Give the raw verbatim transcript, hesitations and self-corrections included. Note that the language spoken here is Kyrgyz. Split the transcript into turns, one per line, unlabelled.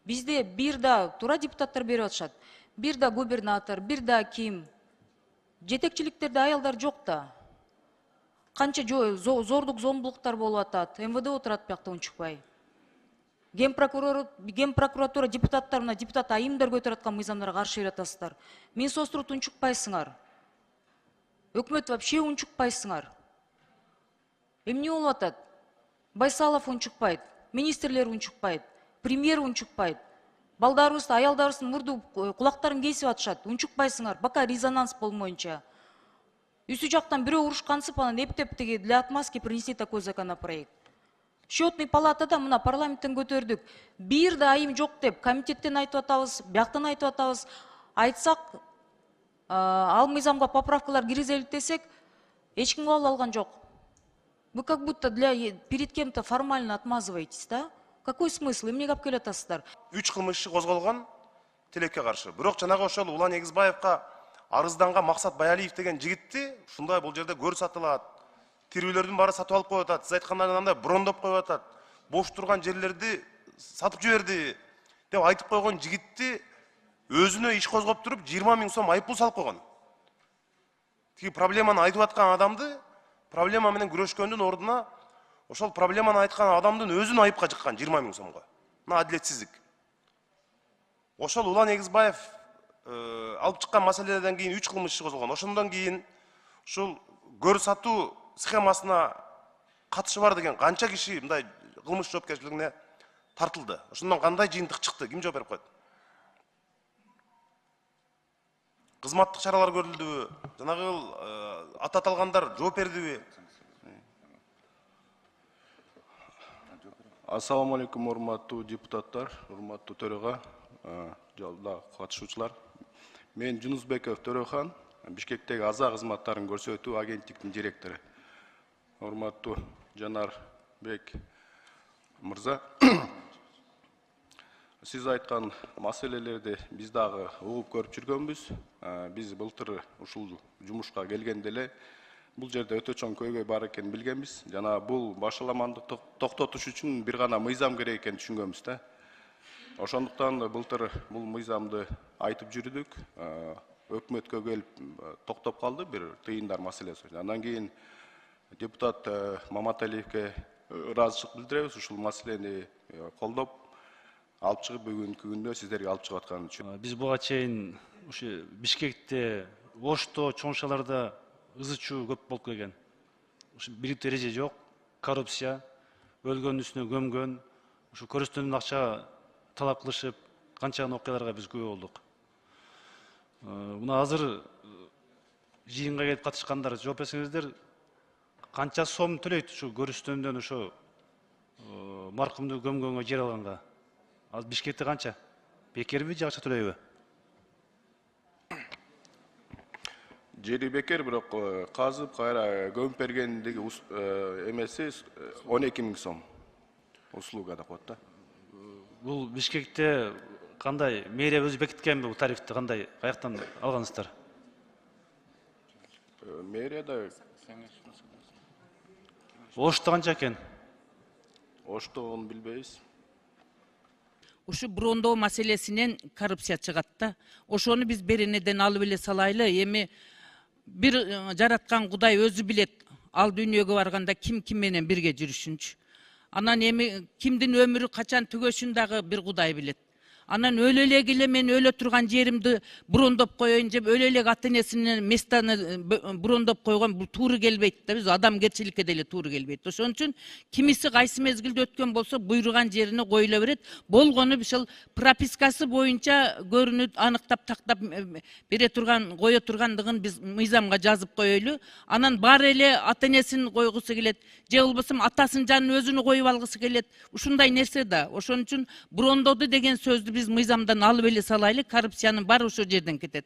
Бизде бир да туура депутаттар берип атышат. Бир да губернатор, бир да ким. Жетекчиликтерде аялдар жок да. Канча зордук зомбулуктар болуп атат. эм вэ дэ отурат биякта унчукпай. Ген прокурор, ген прокуратура депутаттар мына депутат айымдар көтөрүп аткан мыйзамдарга каршы берип атасыздар. Минсоцтурут унчукпайсыңар. Өкмөт вообще унчукпайсыңар. Эмне болуп атат? Байсалов унчукпайт, министрлер унчукпайт, премьер унчукпайт. Балдарыбызды, аялдарыбыздын мурду кулактарын кесип атышат. Унчукпайсыңар, бака резонанс болмоюнча. Үсү жактан бирөө урушкансып, анан эптеп тиги для отмазки принесли такой законопроект. Счетный палатада мына парламенттен көтөрдүк. Бир да айым жок деп комитеттен айтып атабыз, бияктан айтып атабыз. Айтсак, ал мыйзамга поправкалар киргизелик десек, эч ким кабыл алган жок. Вы как будто для перед кем-то формально отмазываетесь, да? Какой смысл? Эмнеге алып келип атасыздар?
Үч кылмыш иши козголгон тилекке каршы. Бирок жанагы ошол Улан Эгизбаевка арызданган Максат Баялиев деген жигитти ушундай бул жерде көр сатылат. Тирүүлөрдүн баары сатып алып коюп атат. Сиз айткандай андай брондоп коюп атат. Бош турган жерлерди сатып жиберди деп айтып койгон жигитти өзүнө иш козгоп туруп жыйырма миң сом айыппул салып койгон. Тиги проблеманы айтып аткан адамды проблема менен күрөшкөндүн ордуна ошол проблеманы айткан адамдын өзүн айыпка жыккан жыйырма миң сомго. Мына адилетсиздик. Ошол Улан Эгизбаев алып чыккан маселеден кийин үч кылмыш иши козголгон. Ошондон кийин ушул көр сатуу схемасына катышы бар деген канча киши мындай кылмыш жоопкерчилигине тартылды. Ошондон кандай жыйынтык чыкты? Ким жооп берип койт? Кызматтык чаралар көрүлдүбү? Жанагы аты аталгандар жооп бердиби?
Ассаламу алейкум, урматтуу депутаттар, урматтуу төрага, жалда катышуучулар. Мен Жунусбеков Төрөхан, Бишкектеги аза кызматтарын көрсөтүү агенттиктин директору. Урматтуу Жанар Бек мырза, сиз айткан маселелерди биз дагы угуп көрүп жүргөнбүз. Биз былтыр ушул жумушка келгенде эле бул жерде өтө чоң көйгөй бар экенин билгенбиз. Жана бул башаламандыкты токтотуш үчүн бир гана мыйзам керек экенин түшүнгөнбүз да. Ошондуктан былтыр бул мыйзамды айтып жүрдүк. Өкмөткө келип токтоп калды бир тыйындар маселеси. Андан кийин депутат Маматалиевке ыраазычылык билдиребиз ушул маселени колдоп алып чыгып бүгүнкү күндө сиздерге алып чыгып аткан үчүн.
Биз буга чейин ушу Бишкекте, Ошто, чоң-шааларда ызы чуу көп болуп келген. Ушу бийликтүү эреже жок, коррупция, өлгөндүн үстүнө көмгөн, ушу көрүстөндөн акча талап кылышып, канчаган окуяларга биз күбө болдук. Мына азыр жыйынга келип катышкандар жооп берсеңиздер, канча сом төлөйт ушу көрүстөндөн ошо маркумду көмгөнгө жер алганга? Азыр Бишкекте канча? Бекерби же акча төлөйбү?
Жери бекер, бирок казып кайра көмүп бергендиги эмеси он эки миң сом. Услуга да коет да.
Бул Бишкекте кандай мэрия өзү бекиткенби бул тарифти, кандай каяктан алгансыздар?
Мэрияда
Ошто канча экен?
Оштону билбейбиз.
Ушу брондоо маселесинен коррупция чыгат да. Ошону биз беренеден алып эле салайлы. Эми бир жараткан Кудай өзү билет. Ал дүйнөгө барганда ким ким менен бирге жүрүшүнчү. Анан эми кимдин өмүрү качан түгөшүн дагы бир Кудай билет. Анан өлө эле келе мен өлө турган жеримди брондоп коеюн деп өлө эле ата-энесинин местаны брондоп койгон бул туура келбейт да, биз адамгерчиликке деле туура келбейт. Ошон үчүн кимиси кайсы мезгилде өткөн болсо буйруган жерине коюла берет. Болгону ушул пропискасы боюнча көрүнүп, аныктап, тактап бере турган, кое тургандыгын биз мыйзамга жазып коелу. Анан баары эле ата-энесин койгусу келет, же болбосо атасынын жанын өзүнү коюп алгысы келет. Ушундай нерсе да. Ошон үчүн брондоду деген сөздү биз мыйзамдан алып эле салайлы, коррупциянын баары ошол жерден кетет.